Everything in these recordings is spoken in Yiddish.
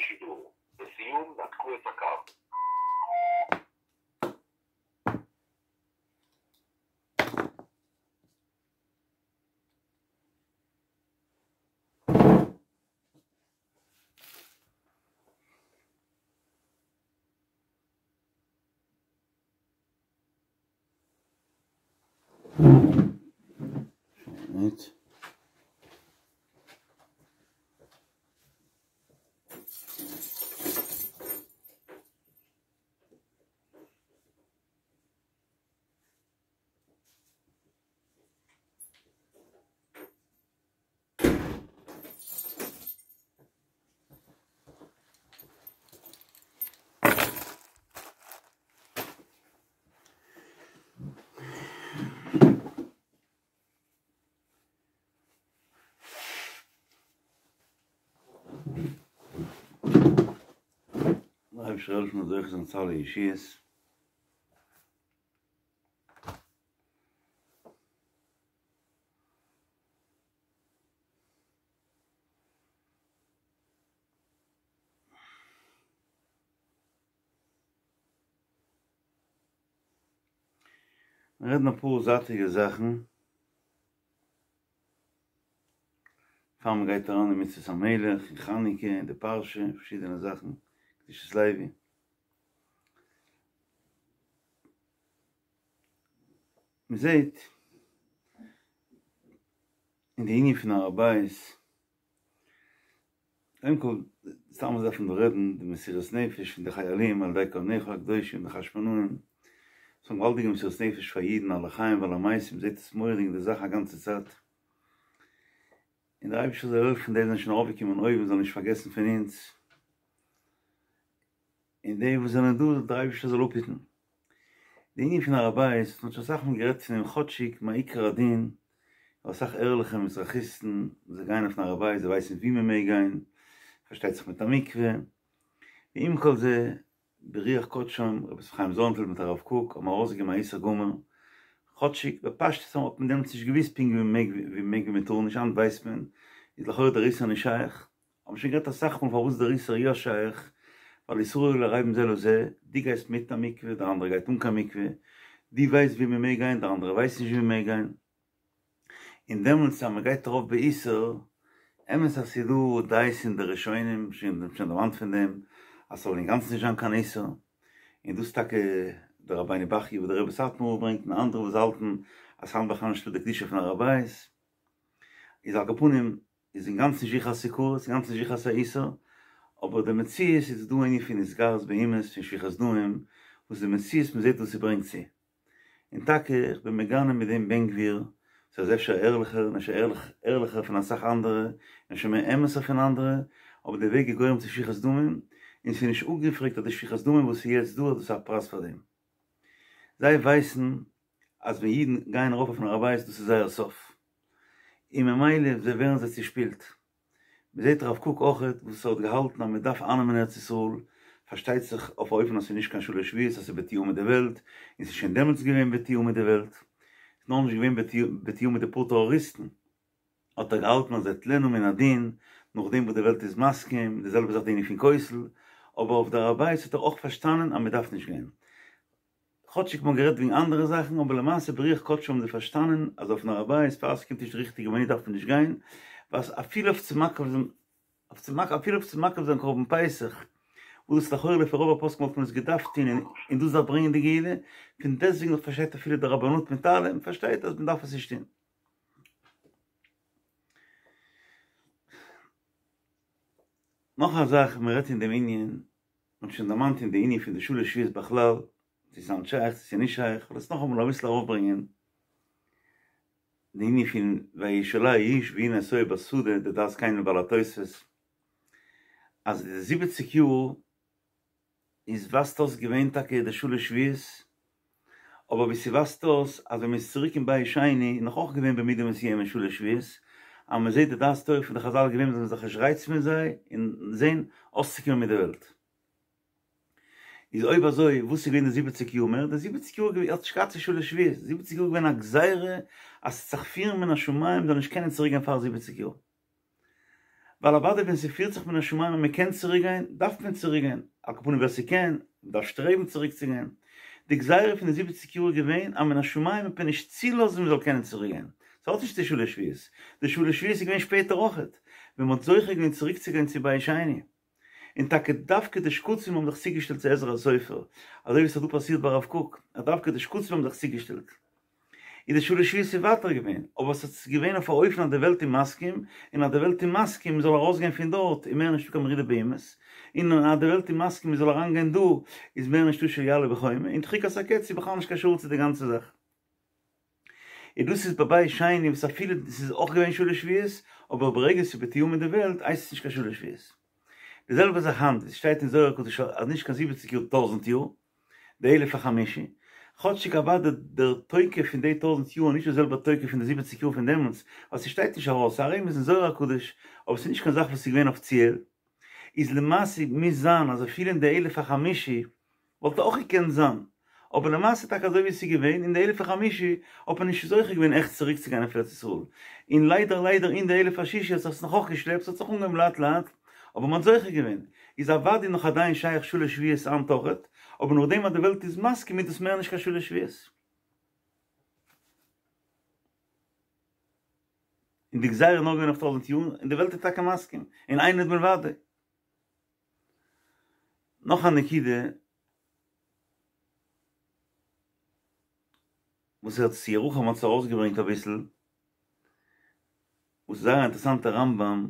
בשידור. לסיום, נתקו את הקו. מינוט. דער אייבערשטער זאל העלפן מ'זאל זוכה זיין צו אלע ישועות. מיר רעדן אפאר זייטיגע זאכן פאר מען גייט אריין אין מצוות המלך און חנוכה און די פרשה און פארשידענע זאכן, קדושת לוי. מען זעט אין די ענין פון הר הבית, קודם כל, סתם אזוי דארף מען דא רעדן, די מסירות נפש פון די חיילים על ידי כהניך הקדושים די חשמונאים, ס'איז א געוואלדיגע מסירות נפש פאר אידן על החיים ועל המתים, מ'זעט עס מורא'דיג די זאך א גאנצע צייט, און דער אייבערשטער זאל העלפן די וואס זענען שוין ארויפגעקומען אויבן זאלן נישט פארגעסן פון אונז, און די וואס זענען דא דער אייבערשטער זאל אפהיטן. די ענין פון הר הבית, מען האט שוין אסאך מאל גערעדט פון דעם כאטשיג מעיקר הדין, אסאך ערליכע מזרחיסטן זיי גייען אויפן הר הבית זיי ווייסן ווי מען מעג גיין, פארשטייט זיך מיט א מקווה, ועם כל זה ברוח קדשם רבי יוסף חיים זאנענפעלד מיט הרב קוק האבן ארויסגעגעבן א איסור גמור, כאטשיג בפשטות האט מען דעמאלטס נישט געוואוסט פונקט ווי מען מעג ווי מען מעג ווי מען טאר נישט היינט ווייסט מען, איז לכאורה דער איסור נישט שייך, האבן שוין גערעדט אסאך מאל פארוואס דער איסור יא שייך, ווייל ישראל ערבים זה לזה, דו גייסט מיט א מקווה, דער אנדערער גייט אן קיין מקווה, דו ווייסט ווי מען מעג גיין, דער אנדערער ווייסט נישט ווי מען מעג גיין, און דעמאלטס אז מען גייט ארויף באיסור, אמת אז ס'איז דא דעות אין די ראשונים, שוין דערמאנט פון דעם, אז ס'זאל אינגאנצן נישט זיין קיין איסור, און דאס טאקע דער רבינו בחיי וואס דער רבי סאטמאר ברענגט און אנדערע וואס האלטן אז היינט בכלל נישטא די קדושה פון הר הבית, איז על כל פנים איז אינגאנצן נישט זיכער אז ס'איז כרת, אינגאנצן נישט זיכער אז ס'איז א איסור, אבער די מציאות איז דא ענין פון התגרות באומות, פון שפיכות דמים, וואס די מציאות מ'זעט וואס ס'ברענגט צו. און טאקע איך בין מגנה מיט דעם בן גביר, ס'איז אפשר ערליכער און אפשר ערליכער פון אסאך אנדערע, און אפשר מער אמת'ער פון אנדערע, אבער די וועג איז גורם צו שפיכות דמים, און ס'איז נישט אפגעפרעגט אז די שפיכות דמים וואס איז יעצט דא אז דאס איז א פרייז פאר דעם. זיי ווייסן אז ווען אידן גייען ארויף אויפן הר הבית דאס איז זייער סוף, און ממילא זיי ווערן זיי צושפילט. מען זעט הרב קוק אויכעט וואס ער האט געהאלטן אז מען דארף אייננעמען ארץ ישראל, פארשטייט זיך אויף א אופן אז ס'איז נישט קיין שלש שבועות אז ס'איז בתיאום מיט די וועלט, און ס'איז שוין דעמאלטס געווען בתיאום מיט די וועלט, ס'איז נאר נישט געווען בתיאום מיט די פאר טעראריסטן, האט ער געהאלטן אז אטלנה מן הדין, נאכדעם וואס די וועלט איז מסכים, די זעלבע זאך די ענין פון כותל, אבער אויף די הר הבית האט ער אויך פארשטאנען אז מען דארף נישט גיין. כאטשיג מ'האט גערעדט וועגן אנדערע זאכן, אבער למעשה ברוח קדשו האבן זיי פארשטאנען אז אויפן הר הבית פאר ס'קומט נישט די ריכטיגע מינוט דארף מען נישט גיין, ווייל אפילו אויף צו מקריב זיין אויף צו מקריב אפילו אויף צו מקריב זיין קרבן פסח, וואס דאס לכאורה לפי רוב הפוסקים וואלט מען עס געדארפט טון און דאס דארף ברענגען די גאולה, פון דעסטוועגן נאך פארשטייט אפילו די רבנות מיט אלעם פארשטייט אז מ'דארף עס נישט טון. נאך א זאך, מ'רעדט אין דעם ענין, מ'האט שוין דערמאנט אין די ענין פון די שלש שבועות בכלל, צו ס'איז היינט שייך צו ס'איז נישט שייך, כ'וועל עס נאכאמאל אביסל ארויפברענגען, די ענין פון וישאלהו איש והנה תוהו בשדה, די דעת זקנים בעלי התוספות, אז די זיבעציג יאר איז ווייזט אויס געווען טאקע די שלש שבועות, אבער ווי ס'ווייזט אויס אז ווען מ'איז צוריק אין בית שני איז נאך אויך געווען במידה מסוימת שלש שבועות, אז מ'זעט די דעת תורה פון די חזל איז געווען מ'זאל זיך נישט רייצן מיט זיי און זען אויסצוקומען מיט די וועלט. איז אויב אזוי וואס איז געווען די זיבעציג יאר מער? די זיבעציג יאר האט נישט געהאט צו שלש שבועות, די זיבעציג יאר איז געווען א גזירה אז ס'וועט זיך פירן מן השמים מ'זאל נישט קענען צוריק גיין פאר זיבעציג יאר. ווייל אוודאי ווען ס'פירט זיך מן השמים אז מ'קען צוריק גיין, דארף מען צוריק גיין, על כל פנים ווער ס'קען, מ'דארף שטרעבן צוריק צו גיין. די גזירה פון די זיבעציג יאר איז געווען אז מן השמים וועט מען נישט צולאזן מ'זאל קענען צוריק גיין. ס'האט נישט צו שלש שבועות. די שלש שבועות איז געווען שפעטער אויכעט, ווען מ'האט זוכה געווען צוריק צו גיין צו בית שני. און טאקע דווקא די שקצים האבן זיך צוגעשטעלט צו עזרא הסופר, אזוי ווי עס האט דא פאסירט ביי הרב קוק, אז דווקא די שקצים האבן זיך צוגעשטעלט. איז די שלש שבועות איז ווייטער געווען, אבער עס איז געווען אויף א אופן אז די וועלט איז מסכים, און אז די וועלט איז מסכים מען זאל ארויסגיין פון דארט איז מער נישטא קיין מרידה באומות, און אז די וועלט איז מסכים מען זאל אריינגיין דא איז מער נישטא של יעלה בחומה, און דחיקת הקץ איז בכלל נישט קשור צו די גאנצע זאך. און דאס איז ביי בית שני וואס אפילו ס'איז אויך געווען שלש שבועות, אבער ברגע ס'איז בתיאום מיט די וועלט הייסט עס נישט קיין שלש שבועות. די זעלבע זאך היינט, עס שטייט אין זוהר הקדוש אז נישט קיין זיבעציג יאר טויזענט יאר, די אלף החמישי, כאטשיג אוודאי דער תוקף פון די טויזענט יאר איז נישט די זעלבע תוקף פון די זיבעציג יאר פון דעמאלטס, ווייל ס'שטייט נישט ארויס, ס'איז א רמז אין זוהר הקדוש, אבער ס'איז נישט קיין זאך וואס איז געווען אפיציעל. איז למעשה מוז זיין אז אפילו אין די אלף החמישי וואלט אויך געקענט זיין, אבער למעשה טאקע אזוי ווי עס איז געווען אין די אלף החמישי האט מען נישט זוכה געווען עכט צוריק צו גיין אויף ארץ ישראל, און ליידער ליידער אין די אלף השישי האט זיך עס נאך אויך געשלעפט, ס'האט זיך אנגעהויבן לאט לאט, אבער מען האט זוכה געווען, איז אוודאי נאך עדיין שייך שלש שבועות היינט אויכעט, אבער נאכדעם אז די וועלט איז מסכים איז דאס מער נישט קיין שלש שבועות. און די גזירה איז נאר געווען אויף טויזענט יאר, און די וועלט איז טאקע מסכים, און אין עוד מלבדו. נאך א נקודה וואס הערט ירוחם האט עס ארויסגעברענגט אביסל, וואס איז זייער א אינטערעסאנטע רמב"ם,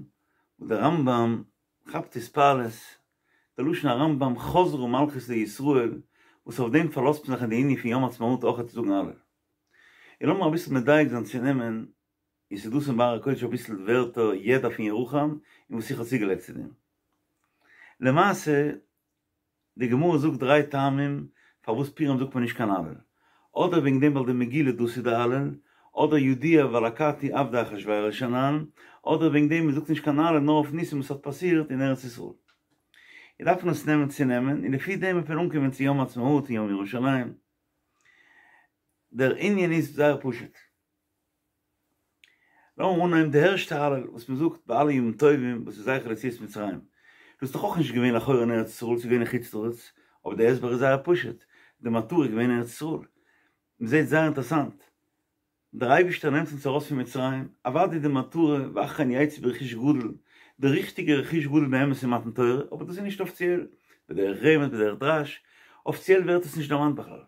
וואס דער רמב"ם כאפט התפעלות, די לשון הרמב"ם חזרה מלכות לישראל, וואס אויף דעם פארלאזט מען זיך אין די ענין פון יום העצמאות אויך צו זאגן הלל. און לאמיר אביסל מדייק זיין צו נעמען און ס'איז דא אין בהר הקודש אביסל ווערטער ידע פון ירוחם און וואס איך האב צוגעלייגט צו דעם. למעשה, די גמרא זאגט דריי טעמים פארוואס פורים זאגט מען נישט קיין הלל. אדער וועגן דעם ווייל די מגילה דאס איז די הלל, אדער ידוע ווייל אכתי עבדי אחשורוש אנן, אדער וועגן דעם מ'זאגט נישט קיין הלל נאר אויף ניסים וואס האט פאסירט אין ארץ ישראל. און דארף מען עס נעמען צונעמען, און לפי דעם וועט מען אנקומען צו יום העצמאות און יום ירושלים. דער ענין איז זייער פשוט. לאמיר אנהייבן די ערשטע הלל וואס מען זאגט ביי אלע ימים טובים וואס איז זכר ליציאת מצרים. דאס איז דאך אויך נישט געווען לכאורה אין ארץ ישראל, ס'איז געווען אין חוץ לארץ, אבער די הסבר איז זייער פשוט, די מטרה איז געווען ארץ ישראל. מען זעט זייער אינטערעסאנט, דער אייבערשטער נעמט אונז ארויס פון מצרים, אוודאי די מטרה ואחרי כן יצאו ברכוש גדול, די ריכטיגע רכוש גדול באמת איז מתן תורה, אבער דאס איז נישט אפיציעל, בדרך רמז בדרך דרש, אפיציעל ווערט עס נישט דערמאנט בכלל.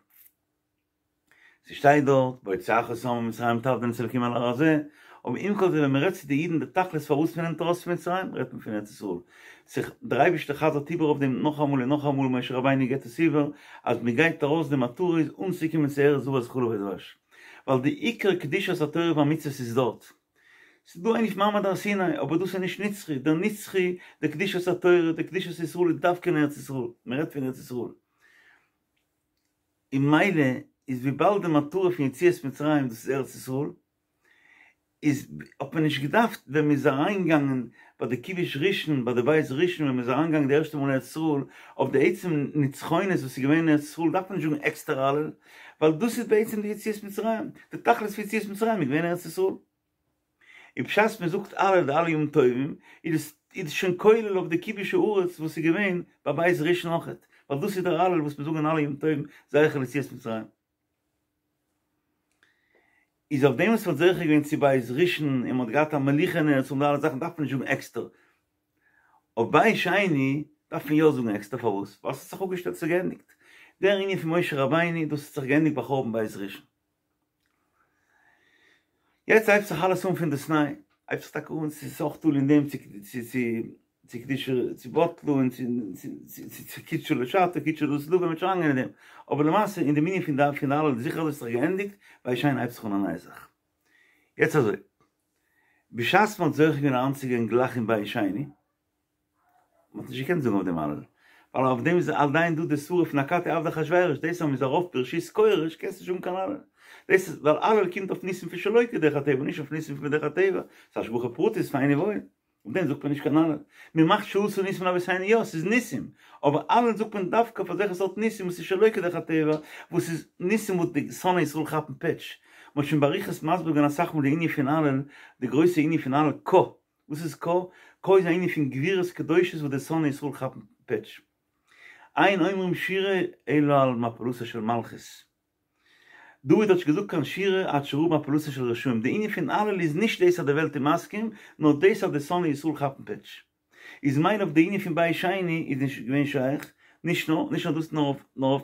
ס'שטייט דארט, בהוציאך את העם ממצרים תעבדון את האלקים על ההר הזה, אבער עם כל זה ווען מ'רעדט צו די אידן די תכלית פארוואס מ'נעמט ארויס פון מצרים, רעדט מען פון ארץ ישראל. זיך, דער אייבערשטער חזר'ט איבער אויף דעם נאכאמאל און נאכאמאל, משה רבינו גיבט עס איבער, אז מ'גייט ארויס די מטרה איז אנצוקומען צו ארץ זבת חלב ודבש. ווייל די עיקר קדושת התורה והמצוות איז דארט. ס'איז דא ענין פון מעמד הר סיני, אבער דאס איז נישט נצחי, דער נצחי, די קדושת התורה, די קדושת ישראל איז דווקא אין ארץ ישראל, מ'רעדט פון ארץ ישראל. און ממילא איז וויבאלד די מטרה פון יציאת מצרים דאס איז ארץ ישראל, איז האט מען נישט געדארפט ווען מען איז אריינגעגאנגען ביי די כיבוש ראשון ביי די בית ראשון ווען מען איז אריינגעגאנגען די ערשטע מאל אין ארץ ישראל אויף די עצם נצחונות וואס איז געווען אין ארץ ישראל דארף מען נישט זאגן עקסטער הלל ווייל דאס איז בעצם די יציאת מצרים די תכלית פון יציאת מצרים איז געווען ארץ ישראל. און בשעת מען זאגט הלל די אלע ימים טובים איז עס איז עס שוין כולל אויף די כיבוש הארץ וואס איז געווען ביי בית ראשון אויכעט, ווייל דאס איז דער הלל וואס מיר זאגן אלע ימים טובים זכר ליציאת מצרים. איז אויף דעם וואס מען האט זוכה געווען צו בית ראשון און מען האט געהאט א מלוכה אין ארץ און די אלע זאכן דארף מען נישט זאגן עקסטער. אויף בית שני דארף מען יא זאגן עקסטער פארוואס? ווייל עס האט זיך אפגעשטעלט ס'איז געענדיגט. דער ענין פון משה רבינו דאס האט זיך געענדיגט ביי חורבן בית ראשון. יעצט הייבט זיך אלעס אן פון דאס ניי, הייבט זיך טאקע אן, ס'איז אויך תלוי אין דעם צו צו צו צו קדושה צו בטלו און צו צו צו קידשו לשעתו קידשו לעתיד לבוא, מ'וועט שוין אריינגיין אין דעם, אבער למעשה אין דעם ענין פון די פון די הלל זיכער אז עס האט זיך געענדיגט, בית שני הייבט זיך אן א נייע זאך. יעצט אזוי, בשעת מ'האט זוכה געווען אריינצוגיין גלייך אין בית שני, מען האט נישט געקענט זאגן אויף דעם הלל, ווייל אויף דעם איז עדיין דא די שררה פון אכתי עבדי אחשורוש, דאס אז מען איז ארויף ברשות כורש קענסט נישט זאגן קיין הלל, דאס איז ווייל הלל קומט אויף ניסים פון שלא כדרך הטבע נישט אויף ניסים פון בדרך הטבע, ס'איז השגחה פרטית פיין און וואויל, אויף דעם זאגט מען נישט קיין הלל, מען מאכט שעשה ניסים לאבותינו יא ס'איז ניסים, אבער הלל זאגט מען דווקא אויף אזעלכע סארט ניסים וואס איז שלא כדרך הטבע, וואס איז ניסים וואס די שונאי ישראל כאפן פעטש, מען האט שוין באריכות מסביר געווען אסאך מאל די ענין פון הלל, די גרויסע ענין פון הלל קה. וואס איז קה? כה איז א ענין פון גבורות קדושות וואס די שונאי ישראל כאפן פעטש. אין אומרים שירה אלא על מפלתה של מלכות. דוד האט נישט געזאגט קיין שירה עד שראה מפלתן של רשעים. די ענין פון הלל איז נישט דאס אז די וועלט איז מסכים, נאר דאס אז די שונאי ישראל כאפן פעטש. איז ממילא אויף די ענין פון בית שני איז נישט געווען שייך, נישט נאר נישט נאר דאס נאר אויף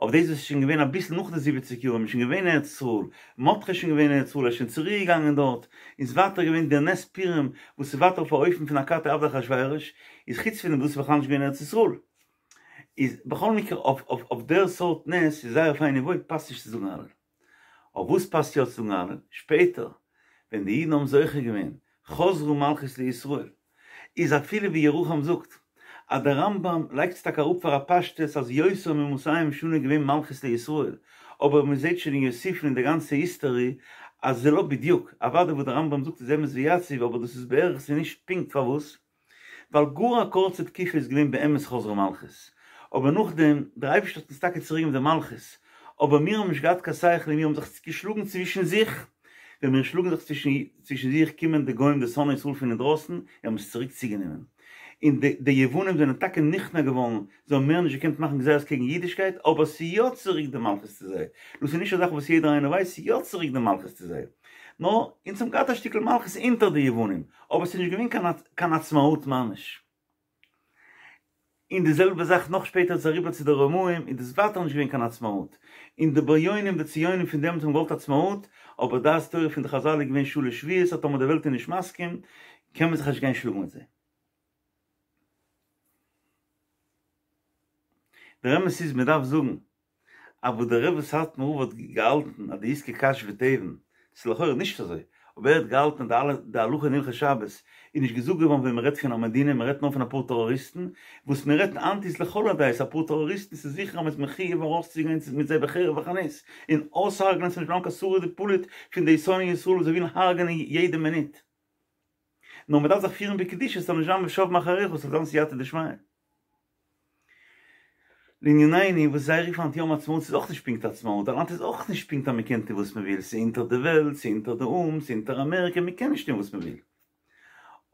אויף דאס וואס איז שוין געווען אביסל נאך די זיבעציג יאר, מ'איז שוין געווען אין ארץ ישראל, מרדכי איז שוין געווען אין ארץ ישראל, ער איז שוין צוריק געגאנגען דארט, איז ווייטער געווען דער נס פורים וואס איז ווייטער אויף א אופן פון אכתי עבדי אחשורוש, איז חוץ פון דעם וואס איז בכלל נישט געווען אין ארץ ישראל. איז בכל מקרה אויף אויף אויף דער סארט נס איז זייער פיין און וואויל פאסט נישט צו זאגן הלל. אויף וואס פאסט יא צו זאגן הלל? שפעטער ווען די אידן האבן זוכה געווען חזרה מלכות לישראל, איז אפילו ווי ירוחם זאגט אז דער רמב"ם לייגט עס טאקע אראפ פאר א פשטות אז יותר ממאתים שנה געווען מלכות לישראל, אבער מען זעט שוין אין יוסיפון אין די גאנצע היסטארי אז זה לא בדיוק, אוודאי וואס דער רמב"ם זאגט איז אמת ויציב אבער דאס איז בערך ס'איז נישט פונקט פארוואס? ווייל גאר א קורצע תקופה איז געווען באמת חזרה מלכות, אבער נאכדעם, דער אייבערשטער האט אונז טאקע צוריק געגעבן די מלכות, אבער מיר האבן נישט געהאט קיין שכל און מיר האבן זיך געשלאגן צווישן זיך, ווען מיר שלאגן זיך צווישן זיך קומען די גוים די שונאי ישראל פון אינדרויסן און האבן עס צוריק צוגענומען, און די די יוונים זענען טאקע נכנע געווארן, זיי האבן מער נישט געקענט מאכן גזירות קעגן אידישקייט, אבער ס'איז יא צוריק די מלכות צו זיי, דאס איז נישט א זאך וואס יעדער איינער ווייסט, ס'איז יא צוריק די מלכות צו זיי, נאר אונז האבן געהאט א שטיקל מלכות אונטער די יוונים, אבער ס'איז נישט געווען קיין קיין עצמאות ממש. און די זעלבע זאך נאך שפעטער איז אריבער צו די רומאים איז דאס ווייטער נישט געווען קיין עצמאות. און די בריונים די ציונים פון דעמאלטס האבן געוואלט עצמאות, אבער דעת תורה פון די חזל איז געווען שלש שבועות אז טאמער די וועלט איז נישט מסכים קען מען זיך נישט גיין שלאגן מיט זיי. דער אמת איז מען דארף זאגן אז וואס דער רבי סאטמאר רב האט געהאלטן אז דאית כקש ותבן, ס'איז לכאורה נישט אזוי, אבער ער האט געהאלטן אז די אלע די הלכה אין הלכות שבת איז נישט געזאגט געווארן ווען מ'רעדט פון א מדינה, מ'רעדט נאר פון אפאר טעראריסטן, וואס מ'רעדט היינט איז לכל הדעות אפאר טעראריסטן, ס'איז זיכער אז מ'איז מחויב ארויסצוגיין מיט זיי בחרב וחנית און אויסהרג'נען ס'זאל נישט בלייבן קיין שריד ופליט פון די שונאי ישראל וואס זיי ווילן הרג'נען יעדע מינוט. נאר מ'דארף זיך פירן בקדושה ס'זאל נישט זיין ושב מאחריך ס'זאל זיין סייעתא דשמיא. לענינינו וואס זיי רופן היינט יום עצמאות איז אויך נישט פונקט עצמאות, ווייל היינט איז אויך נישט פונקט אז מ'קען טון וואס מ'וויל, ס'איז אונטער די וועלט, ס'איז אונטער די או"ם, ס'איז אונטער אמעריקע, מ'קען נישט טון וואס מ'וויל.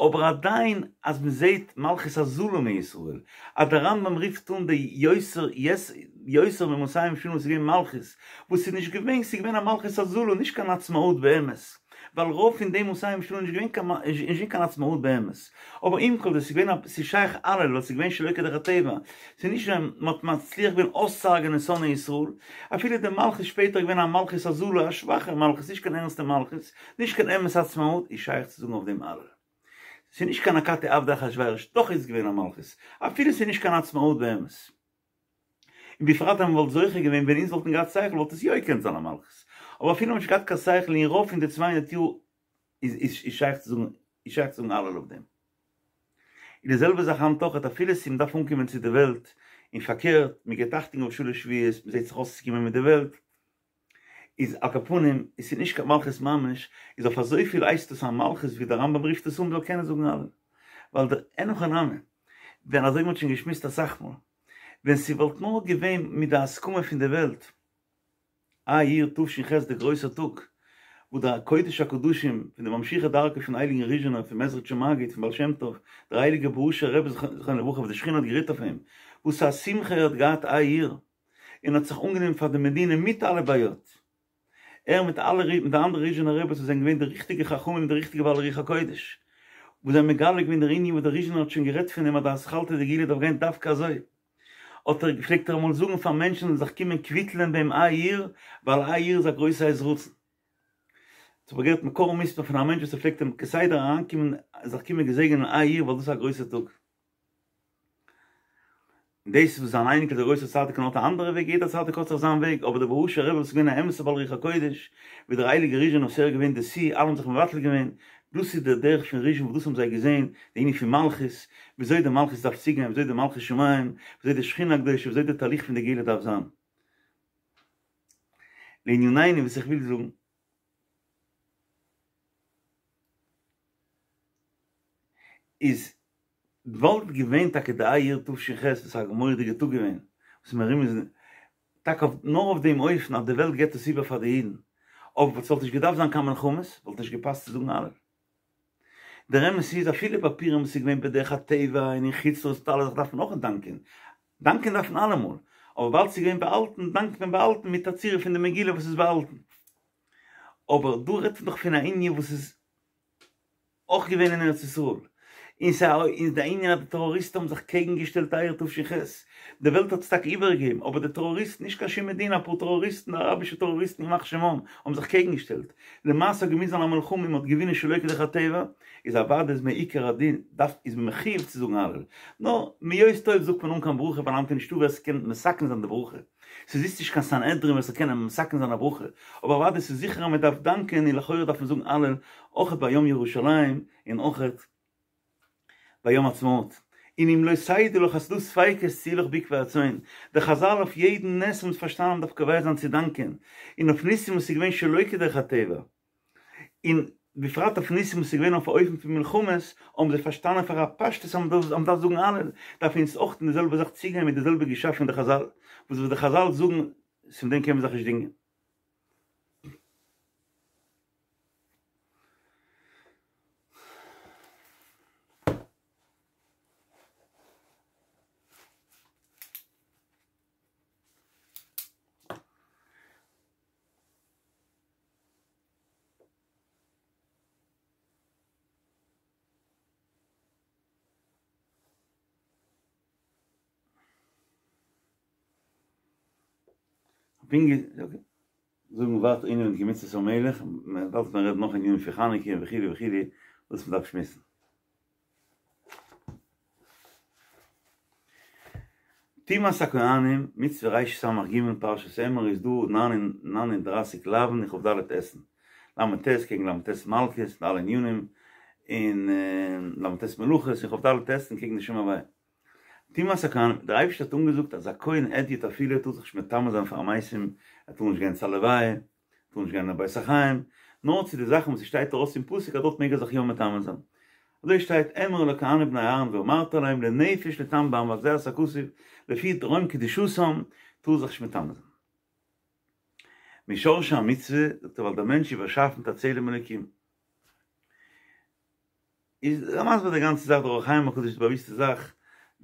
אבער עדיין אז מ'זעהט מלכות הזלה מישראל, אז דער רמב"ם רופט אן די יותר יותר ממאתים שנה וואס איז געווען מלכות, וואס איז נישט געווען, ס'איז געווען א מלכות הזלה, נישט קיין עצמאות באמת, ווייל רוב פון די מאתים שנה איז נישט געווען קיין איז נישט געווען קיין עצמאות באמת, אבער עם כל זה ס'איז געווען א ס'איז שייך הלל ווייל ס'איז געווען שלא כדרך הטבע, ס'איז נישט ווען מ'האט מצליח געווען אויסצוהרג'ענען שונאי ישראל, אפילו די מלכות שפעטער איז געווען א מלכות הזלה, א שוואכע מלכות, נישט קיין ערנסטע מלכות, נישט קיין אמת עצמאות, איז שייך צו זאגן אויף דעם הלל. ס'איז נישט קיין אכתי עבדי אחשורוש, דאך איז עס געווען א מלכות, אפילו ס'איז נישט קיין עצמאות באמת. און בפרט אז מ'וואלט זוכה געווען ווען אונז וואלטן געהאט שכל וואלט עס יא געקענט זיין א מלכות, אבער אפילו מ'האט נישט געהאט קיין שכל אין רוב פון די צוויי הונדערט יאר איז איז שייך צו זאגן איז שייך צו זאגן הלל אויף דעם. און די זעלבע זאך היינט אויכעט אפילו ס'איז מ'דארף אנקומען צו די וועלט און פארקערט מ'געבט אכטונג אויף שלש שבועות מ'זעט זיך אויסצוקומען מיט די וועלט איז על כל פנים עס איז נישט קיין מלכות ממש, איז אויף אזויפיל הייסט עס א מלכות ווי דער רמב"ם רופט עס אן מ'זאל קענען זאגן הלל. ווייל דער אין הכי נמי, ווען אזוי ווי מ'האט שוין געשמועסט אסאך מאל, ווען ס'וואלט נאר געווען מיט די הסכמה פון די וועלט, אייר תש"ח דער גרויסער טאג, וואו דער קודש הקדשים פון די ממשיכי דרכו פון הייליגן ריזשינער, פון מעזריטשער מגיד, פון בעל שם טוב, דער הייליגער בוהושער רבי זכרונו לברכה וואס די שכינה האט גערוהט אויף אים, וואס א שמחה ער האט געהאט אייר, און האט זיך אנגענומען פאר די מדינה מיט אלע בעיות. ער מיט אלע מיט די אנדערע ריזשינער רביס וואס זענען געווען די ריכטיגע חכמים און די ריכטיגע בעלי רוח הקודש, וואס זיי האבן מגלה געווען דער ענין וואס דער ריזשינער האט שוין גערעדט פון דעם אז די אתחלתא דגאולה דארף גיין דווקא אזוי, האט ער פלעגט ער אמאל זאגן פאר מענטשן זאלן זיך קומען קוויטלען ביי אים אייר, ווייל אייר איז א גרויסע עת רצון. כ'האב געהערט מקור מוסמך פון א מענטש וואס ער פלעגט אים כסדר אריינקומען זיך קומען געזעגענען אייר ווייל דאס איז א גרויסע טאג. און דאס וואס זיין אייניקל דער גרויסער צדיק האט א אנדערע וועג, יעדער צדיק האט זיך זיין וועג, אבער דער בוהושער רבי וואס איז געווען א אמת'ער בעל רוח הקודש, ווי דער הייליגער ריזשינער וואס ער איז געווען די שיא, אלע האבן זיך מבטל געווען, דאס איז דער דרך פון ריזשין וואס דאס האבן זיי געזען, די ענין פון מלכות, וויאזוי די מלכות דארף צוגיין, וויאזוי די מלכות שמים, וויאזוי די שכינה הקדושה, וויאזוי די תהליך פון די גאולה דארף זיין. לענינינו וואס איך וויל זאגן. איז וואלט געווען טאקע די אייר תש"ח וואס איז א מורא'דיגע טאג געווען, וואס מרומז טאקע אויף נאר אויף דעם אופן אז די וועלט געבט עס איבער פאר די אידן, אבער ס'וואלט נישט געדארפט זיין קיין מלחמות, וואלט נישט געפאסט צו זאגן הלל. דער אמת איז אפילו ביי פורים וואס איז געווען בדרך הטבע און אין חוץ לארץ מיט אלע זאכן דארף מען אויך דאנקען, דאנקען דארף מען אלעמאל, אבער וויבאלד ס'איז געווען באהאלטן דאנקט מען באהאלטן מיט א צורה פון די מגילה וואס איז באהאלטן. אבער דא רעדט מען דאך פון א ענין וואס איז אויך געווען אין ארץ ישראל, און ס'איז די ענין אז די טעראריסטן האבן זיך קעגן געשטעלט אייר תש"ח, די וועלט האט עס טאקע איבערגעגעבן, אבער די טעראריסטן, נישט קיין שום מדינה, אפאר טעראריסטן, אראבישע טעראריסטן ימח שמם, האבן זיך קעגן געשטעלט, למעשה האט געמוזט זיין א מלחמה און מ'האט געווינען שלא כדרך הטבע, איז אוודאי איז מעיקר הדין דארף איז מען מחיוב צו זאגן הלל, נאר מהיות טוב זאגט מען אן קיין ברכה ווייל היינט איז נישטא ווער ס'קען מתקן זיין די ברכה. ס'זיצט נישט קיין סנהדרין ווער ס'זאל קענען מתקן זיין א ברכה, אבער אוודאי ס'איז זיכער אז מ'דארף דאנקען און לכאורה דארף מען זאגן הלל אויכעט ביי יום ירושלים און אויכעט ביי יום עצמאות. און אם לא תדעי לך אז ס'דא ספיקות צאי לך בעקבי הצאן. די חזל אויף יעדן נס האבן פארשטאנען אז מ'דארף קובע זיין צו דאנקען, און אויף ניסים וואס איז געווען שלא כדרך הטבע, און בפרט אויף ניסים וואס איז געווען אויף א אופן פון מלחמות, האבן זיי פארשטאנען פאר א פשטות אז מען דארף זאגן הלל, דארף אונז אויך אין די זעלבע זאך צוגיין מיט די זעלבע גישה פון די חזל, וואס וואס די חזל זאגן, פון דעם קען מען זיך נישט דינגען. זאגן ווייטער ענינים פון מצות המלך, מען דארף מען רעדן נאך ענינים פון חנוכה וכו' וכו' וואס מען דארף שמועסן. טומאת הכהנים, מצוה רס"ג פרשת אמור איז דא 39 לאווין און כ"ד עשין, ל"ט קעגן ל"ט מלקות די אלע ענינים, און ל"ט מלאכות און כ"ד עשין קעגן די שם הוויה. טומאת הכהנים, דער אייבערשטער האט אנגעזאגט אז א כהן הדיוט אפילו טאר זיך נישט מטמא זיין פאר מתים, ער טאר נישט גיין צו א לוויה, טאר נישט גיין אין א בית החיים, נאר צו די זאכן וואס ס'שטייט ארויס אין פסוק אז דארט מעג ער זיך יא מטמא זיין. אזוי שטייט אמור אל הכהנים בני אהרן ואמרת אליהם לנפש לטמא בם וגזירת הכתוב לפי רום קדושתם טאר זיך נישט מטמא זיין. משרשי המצוה, זאגט ער ווייל דער מענטש איז באשאפן מיט א צלם אלוקים. איז ער מסביר די גאנצע זאך דער אור החיים הקדוש די באוויסטע זאך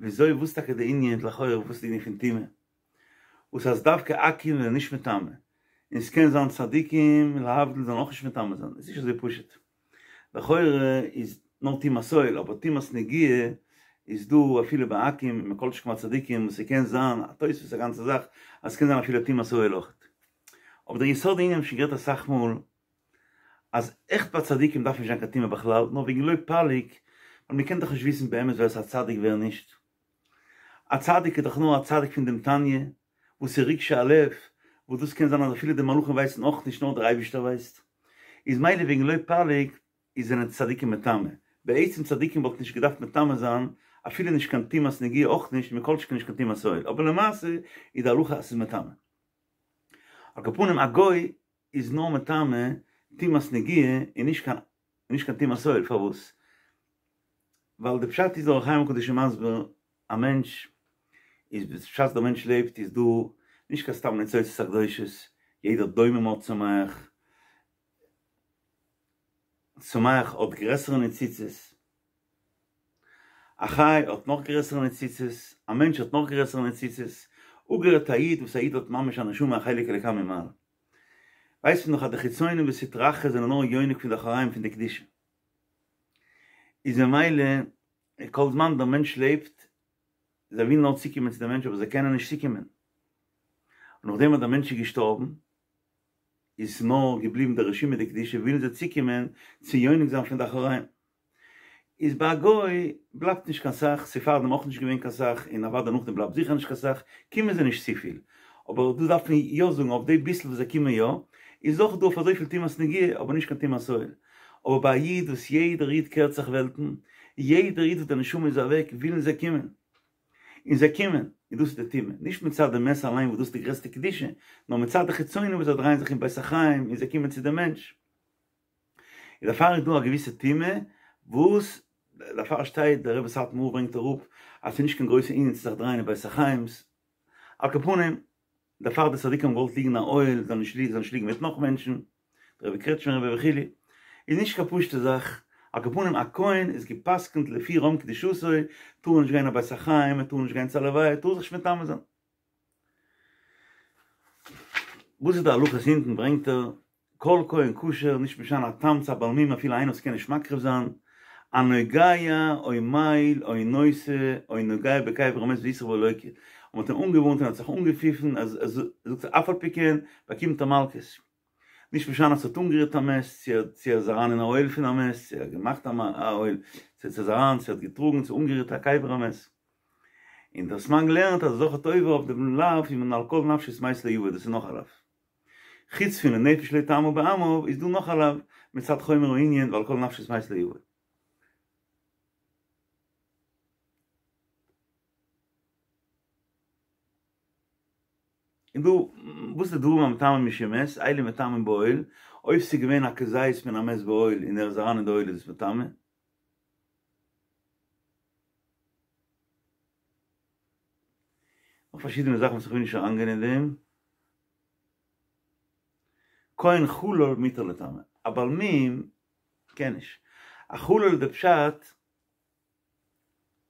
וויאזוי וואס טאקע די ענין לכאורה וואס איז די ענין פון טומאה וואס אז דווקא עכו"ם זענען נישט מטמא און ס'קען זיין צדיקים להבדיל זאלן אויך נישט מטמא זיין איז נישט אזוי פשוט לכאורה איז נאר טומאת אוהל אבער טומאת נגיעה איז דא אפילו ביי עכו"ם מכל שכן ביי צדיקים וואס ס'קען זיין א תוספות א גאנצע זאך אז ס'קען זיין אפילו טומאת אוהל אויכעט אבער דער יסוד הענין האב איך שוין גערעדט אסאך מאל אז עכט ביי צדיקים דארף נישט זיין קיין טומאה בכלל, נאר וועגן לא פליג, ווייל מ'קען דאך נישט וויסן באמת ווער ס'איז א צדיק ווער נישט. א צדיק איז דאך נאר א צדיק פון דעם תניא, וואס איז רגשי הלב, וואס דאס קען זיין אז אפילו די מלאכים ווייסן אויך נישט נאר דער אייבערשטער ווייסט. איז מילא וועגן לא פליג איז זענען צדיקים מטמא. בעצם צדיקים וואלטן נישט געדארפט מטמא זיין, אפילו נישט קיין טומאת נגיעה אויך נישט, מכל שכן נישט קיין טומאת אוהל, אבער למעשה איז די הלכה אז ס'איז מטמא. על כל פנים א גוי איז נאר מטמא טומאת נגיעה און נישט קיין נישט קיין טומאת אוהל, פארוואס? ווייל די פשט איז דער אור החיים הקדוש איז מסביר א מענטש איז בשעת דער מענטש לעבט איז דא נישט קיין סתם ניצוצות הקדושות, יעדער דומם האט צומח, צומח האט גרעסערע ניצוצות, א חי האט נאך גרעסערע ניצוצות, א מענטש האט נאך גרעסערע ניצוצות, אפגערעדט א איד וואס א איד האט ממש א נשמה א חלק אלוקה ממעל. ווייסט מען דאך אז די חיצונים וסטרא אחרא זענען נאר יונק פון די אחוריים פון די קדושה. איז ממילא כל זמן דער מענטש לעבט, זיי ווילן נאר צוקומען צו דעם מענטש אבער זיי קענען נישט צוקומען. און נאכדעם אז דער מענטש איז געשטארבן, איז נאר געבליבן די רשימא דקדושה, ווילן זיי צוקומען צו יונק זיין פון די אחוריים. איז ביי א גוי בלייבט נישט קיין סך, ס'איז פארדעם אויך נישט געווען קיין סך, און אוודאי נאכדעם בלייבט זיכער נישט קיין סך, קומען זיי נישט צופיל. אבער דא דארף מען יא זאגן אויף די ביסל וואס זיי קומען יא, איז אויך דא אויף אזויפיל טומאת נגיעה, אבער נישט קיין טומאת אוהל. אבער ביי א איד וואס יעדער איד קערט זיך וועלטן, יעדער איד וואס די נשמה איז אוועק, ווילן זיי קומען. און זיי קומען, און דאס איז די טומאה, נישט מצד די מת אליין וואס דאס איז די גרעסטע קדושה, נאר מצד די חיצונים וואס זיי דרייען זיך אין בית החיים און זיי קומען צו די מענטש. און דערפאר איז דא א געוויסע טומאה וואס דערפאר שטייט דער רבי סאטמאר ברענגט אראפ אז ס'איז נישט קיין גרויסע ענין צו זיך דרייען אין בית החיים'ס, על כל פנים דערפאר די צדיקים האבן געוואלט ליגן אין א אוהל זאלן נישט ליגן זאלן נישט ליגן מיט נאך מענטשן, דער רבי קרעטשמער רבי וכו', איז נישט קיין פשוטע זאך. על כל פנים א כהן איז גע'פסק'נט לפי רום קדושתו, טאר ער נישט גיין א בית החיים, ער טאר נישט גיין צו א לוויה, ער טאר זיך נישט מטמא זיין. וואס איז די הלכות אונטן ברענגט ער כל כהן כשר נישט משנה א תם צו א בעל מום אפילו איינער וואס קען נישט מקריב זיין, הנוגע או מעיל או נושא או נוגע בקבר המת והתריע ולא לוקה, און מ'האט אים אנגעווארנט און ער האט זיך אנגעפיפן אז ער זאגט אף על פי כן באקומט ער מלקות. נישט משנה צו ער האט אנגערירט א מת, צו ער איז אריין אין א אוהל פון א מת, צו ער האט געמאכט א אוהל, צו ער איז אריין, צו ער האט געטראגן, צו אנגערירט א קבר המת. און דער סמ"ג לערנט אז ער איז אויך עובר אויף דעם לאו פון על כל נפשות מת לא יבא, דאס איז נאך א לאו. חוץ פון לנפש לא יטמא בעמיו איז דא נאך א לאו מצד חומר הענין ועל כל נפשות מת לא יבא. און דא וואס איז דברים המטמאים משום מת, אלו מטמאים באוהל, אויב ס'איז געווען א כזית מן המת באוהל און ער איז אריין אין די אוהל איז עס מטמא. נאך פארשידענע זאכן וואס איך וויל נישט אריינגיין אין דעם. כהן חלל מותר לטמא. א בעל מום קען נישט. א חלל די פשט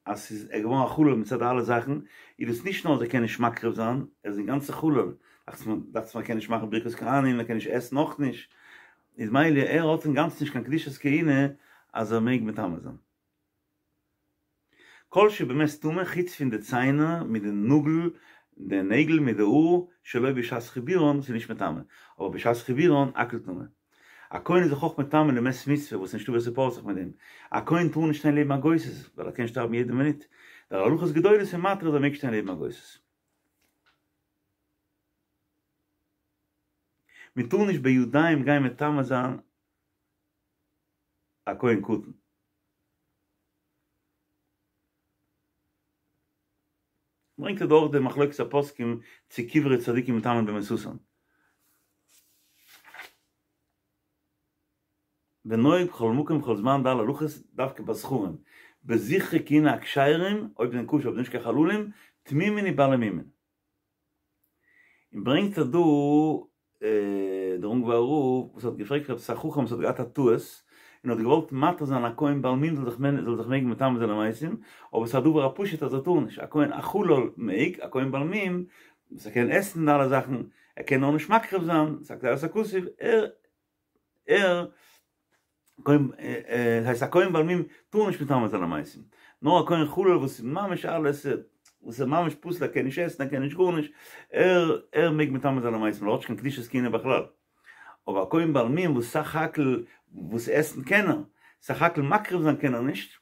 אז ס'איז ער געווארן א חלל מצד אלע זאכן, איז דאס נישט נאר אז ער קען נישט מקריב זיין, ער איז אינגאנצן חלל, דאכט זיך מיר ער קען נישט מאכן ברכת כהנים, ער קען נישט עסן אויך נישט, איז מילא ער האט אינגאנצן נישט קיין קדושת כהונה אז ער מעג מטמא זיין. כל שבמת טמא חוץ פון די ציינער מיט די נאגל, די נעגל מיט די האר, שלא בשעת חיבורן, ס'איז נישט מטמא, אבער בשעת חיבורן הכל טמא. א כהן איז זיך אויך מטמא למת מצוה וואס נישטא ווער ס'פארט זיך מיט דעם. א כהן טאר נישט שטיין לעבן א גוסס ווייל ער קען שטארבן יעדע מינוט. דער הלכות גדולות איז מתיר אז ער מעג שטיין לעבן א גוסס. מען טאר נישט בידיים גיין מטמא זיין א כהן קטן. ברענגט ער דא אויך די מחלוקת הפוסקים צו קברי צדיקים מטמאין במיתתן. ונוהג בכל מקום ובכל זמן ד' הלכות דווקא בזכרים, בזכרי כהונה הכשרים, אויב זענען כשר אויב נישט קיין חללים, תמימין ובעלי מומין. און ברענגט ער דא דער אונגוואר רב וואס האט געפרעגט עפעס א חכם וואס האט געהאט א טעות און האט געוואלט מתיר זיין א כהן בעל מום זאל זיך זאל זיך מעגן מטמא זיין למתים, אבער ס'איז א דבר הפשוט אז ער טאר נישט, א כהן א חלל מעג, א כהן בעל מום וואס ער קען עסן די אלע זאכן, ער קען נאר נישט מקריב זיין, ס'איז א גזירת הכתוב, ער ער כהן הייסט א כהן בעל מום טאר נישט מטמא זיין למתים, נאר א כהן חלל וואס איז ממש אלעס וואס איז ממש פסול ער קען נישט עסן ער קען נישט גארנישט, ער ער מעג מטמא זיין למתים ווייל ער האט נישט קיין קדושת כהונה בכלל, אבער א כהן בעל מום וואס סך הכל וואס עסן קען ער, סך הכל מקריב זיין קען ער נישט,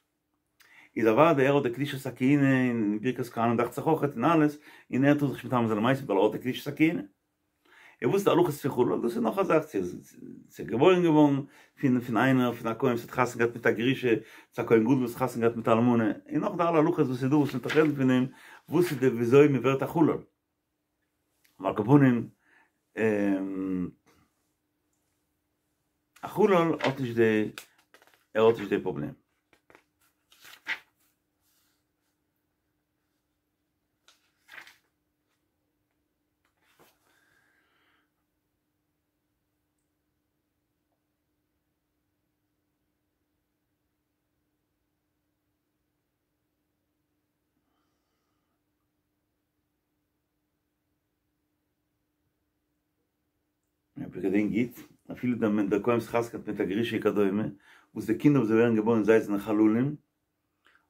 איז אוודאי ער האט די קדושת הכהונה און ברכת כהנים דאכט זיך אויכעט און אלעס, און ער טאר זיך נישט מטמא זיין למתים ווייל ער האט די קדושת הכהונה. און וואס איז די הלכות פון חלל? דאס איז נאך א זאך צו ס'איז געבוירן געווארן פון פון איינער פון א כהן וואס האט חתונה געהאט מיט א גרושה, צו א כהן גדול וואס האט חתונה געהאט מיט א אלמנה, און נאך די אלע הלכות וואס איז דא וואס מ'וועט רעדן פון דעם, וואס איז די וויאזוי מ'ווערט א חלל. על כל פנים, א חלל האט נישט די, ער האט נישט די פראבלעם. אויב איך געדענק גוט, אפילו דער מען דער כהן וואס חתונה געהאט מיט א גרושה וכדומה, וואס די קינדער וואס זיי ווערן געבוירן זיי זענען חללים,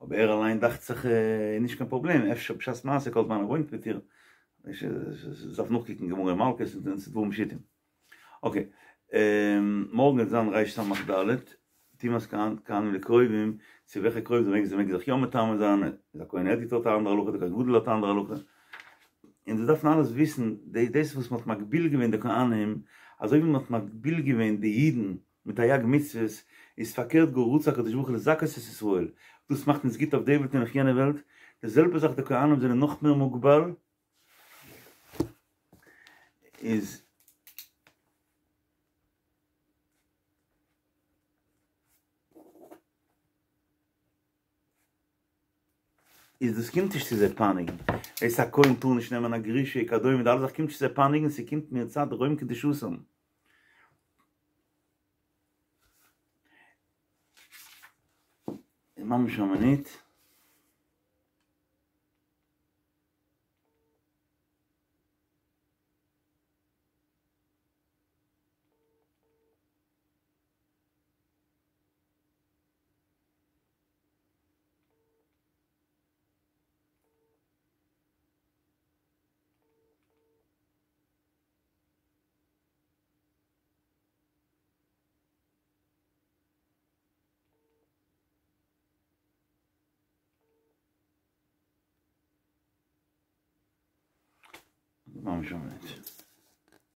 אבער ער אליין דאכט זיך איז נישט קיין פראבלעם, אפשר בשעת מעשה כל זמן ער וואוינט מיט איר, דארף נאכקוקן גמרא אין מלקות און ס'איז דברים פשוטים. אקעי, מארגן וועט זיין רס"ד, טומאת כהנים לקרובים, צו וועלכע קרוב זיי מעגן זיי מעגן זיך יא מטמא זיין, איז א כהן הדיוט האט א אנדערע הלכה, די כהן גדול האט א אנדערע הלכה, און דאס דארף מען אלעס וויסן, דאס וואס מען האט מגביל געווען די כהנים, אזוי ווי מען האט מגביל געווען די אידן מיט תרי"ג מצוות, איז פארקערט גאר רצה הקדוש ברוך הוא לזכות את ישראל, דאס מאכט אונז גוט אויף די וועלט און אויף יענע וועלט, די זעלבע זאך די כהנים זענען נאך מער מוגבל, איז. איז דאס קומט נישט צו זיי פייניגן, דאס א כהן טאר נישט נעמען א גרושה וכדומה די אלע זאכן קומט נישט צו זיי פייניגן ס'קומט מצד רום קדושתם. ממש א מינוט. ממש א מינוט.